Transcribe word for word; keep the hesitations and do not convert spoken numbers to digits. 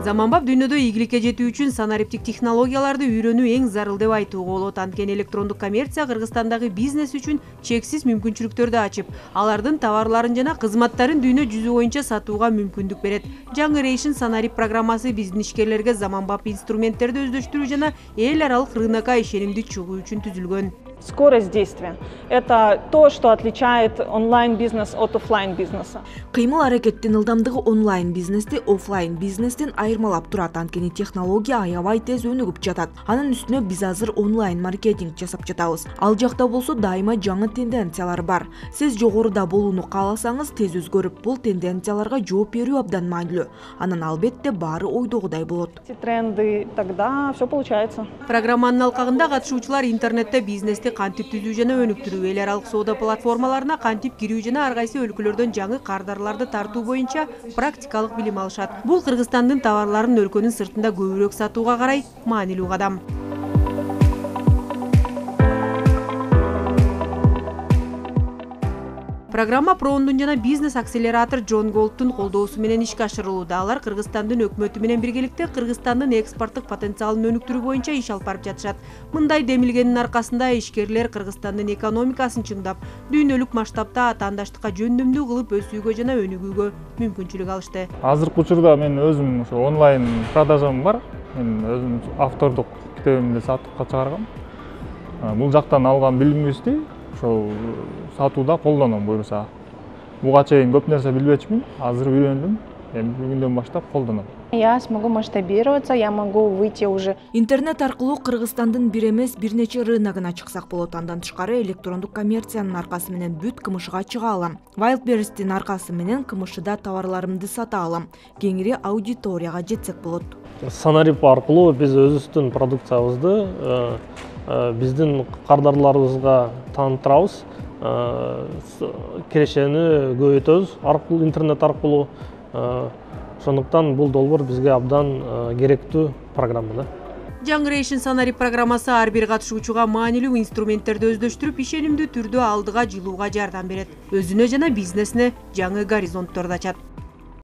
Заманбап дүйнөдө ийгиликке жетүү үчүн санариптик технологияларды үйрөнүү эң зарыл деп айтууга болот. Анткени электрондук коммерция Кыргызстандагы бизнес үчүн чексиз мүмкүнчүлүктөрдү ачып, алардын товарларын жана кызматтарын дүйнө жүзү боюнча сатууга мүмкүндүк берет. Generation санарип программасы биздин ишкерлерге заманбап инструменттерди өздөштүрүү жана эл аралык рынокко ишенимдүү чыгуу үчүн түзүлгөн. Скорость действия – это то, что отличает онлайн-бизнес от офлайн-бизнеса. Кыймыл-аракеттин ылдамдыгы онлайн-бизнести офлайн-бизнестен айырмалап турат. Анткени технология аябай тез өнүгүп жатат. Анын үстүнө биз азыр онлайн-маркетинг жасап жатабыз. Ал жакта болсо дайыма жаңы тенденциялар бар. Сиз жогоруда болууну кааласаңыз, тез өзгөрүп, бул тенденцияларга жооп берүү абдан маанилүү. Анан албетте баары ойдогудай болот. Эти тренды, тогда все получается. Программанын алкагында катышуучулар интернетте бизнести кантип түзүү жана өнүктүрүү, эл аралык соода платформаларына кантип кирүү жана ар кайсы өлкөлөрдөн жаңы кардарларды тартуу боюнча практикалык билим алышат. Бул Кыргызстандын товарларын өлкөнүн сыртында көбүрөөк сатууга карай маанилүү кадам. Программа Прондун жана бизнес-акселератор Джон Голдтун колдоосу менен ишке ашырылууда. Алар Кыргызстандын өкмөтү менен биргеликте Кыргызстандын экспорттук потенциалын өнүктүрүү боюнча иш алып барып жатышат. Мындай демилгенин аркасында ишкерлер Кыргызстандын экономикасын чыңдап, дүйнөлүк масштабта атаандаштыкка жөндөмдүү кылып өсүүгө жана өнүгүүгө мүмкүнчүлүк алышты. Азыркы учурда мен өзүм ошо онлайн продажам бар. Мен өзүм автордук китебимди сатыкка чыгаргам. Бул жактан алган билимибизди ошол сатууда колдоном буюрса. Буга чейин көп нерсе билбечмин, азыр үйрөндүм. Эми бүгүндөн баштап колдоном. Я смогу масштабироваться, я могу выйти уже. Интернет аркылуу Кыргызстандын бир эмес бир нече рыногуна чыксак болот. Андан тышкары электрондук коммерциянын аркасы менен бүт КМШга чыга алам. Wildberries'тин аркасы менен КМШда товарларымды сата алам. Кеңири аудиторияга жетсек болот. Санарип аркылуу биз өзүбүздүн продукциябызды биздин кардарларыбызга тааныттырабыз. Кирешени көбөйтөбүз аркылуу, интернет аркылуу. Ошондуктан бул долбоор бизге абдан керектүү программа. Generation санарип программасы ар бир катышуучуга маанилүү инструменттерди өздөштүрүп, ишенимдүү түрдө алдыга жылууга жардам берет. Өзүнө жана бизнесине жаңы горизонтторду ачат.